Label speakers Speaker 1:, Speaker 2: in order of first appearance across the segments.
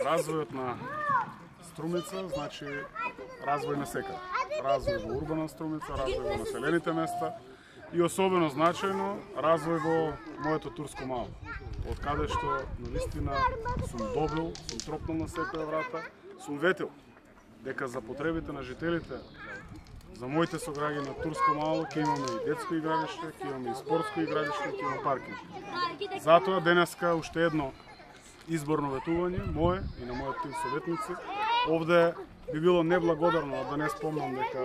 Speaker 1: Развојот на Струмица значи развој на секаде. Развој во урбана Струмица, развој во населените места и особено значајно развој во моето турско мало. Од каде што навистина сум добил, сум тропнал на секоја врата, сум ветил дека за потребите на жителите, за моите сограѓани на турско мало ќе имаме и детско игралиште, ќе имаме и спортско игралиште, ќе имаме паркинг. Затоа денеска уште едно изборно ветување, мое и на мојот тим советници. Овде би било неблагодарно да не спомнам дека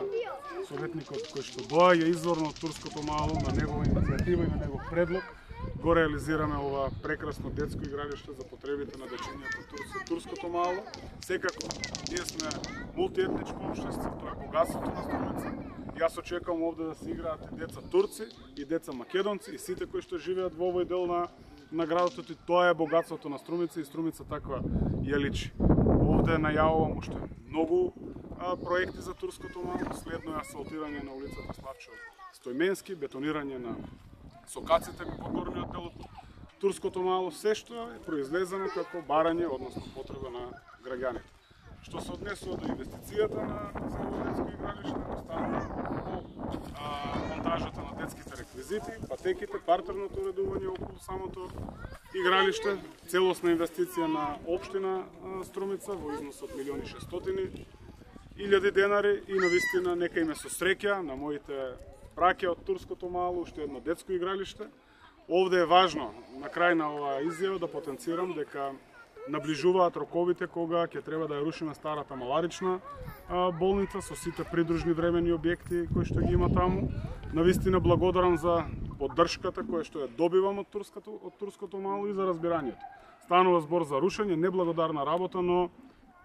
Speaker 1: советникот кој што доаѓа изворно од турското мало, на негова иницијатива и на негов предлог, го реализираме ова прекрасно детско игралиште за потребите на дечињата од турското мало. Секако, ние сме мултиетничко општество, тоа е богатството на Струмица. Јас очекувам овде да се играат и деца турци, и деца македонци, и сите кои што живеат во овој дел на градот, и тоа е богатството на Струмица и Струмица таква ја личи. Овде најавувам уште многу проекти за турското мало, следно е асфалтирање на улицата Славчо Стојменски, бетонирање на сокаците во горниот дел од турското мало, се што е произлезено како барање, односно потреба на граѓаните. Што се однесува до инвестицијата на детско игралиште, останува монтажата на детските реквизити, патеките, партерното уредување околу самото игралиште, целосна инвестиција на општина Струмица во износ од 1.600.000 денари и навистина нека име со среќа на моите браќа од турското мало, уште едно детско игралиште. Овде е важно, на крај на оваа изјава, да потенцирам дека наближуваат роковите кога ќе треба да ја рушиме старата маларична болница со сите придружни времени објекти кои што ги има таму. Навистина благодарам за поддршката која што ја добивам од турското мало и за разбирањето. Станува збор за рушење, неблагодарна работа, но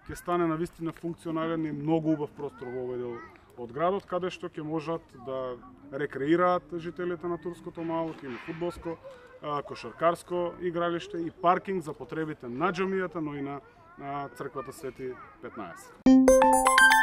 Speaker 1: ќе стане навистина функционален и многу убав простор во овој дел од градот, каде што ќе можат да рекреираат жителите на турското мало, ќе има фудбалско, кошаркарско игралиште и паркинг за потребите на џамијата, но и на црквата Свети 15.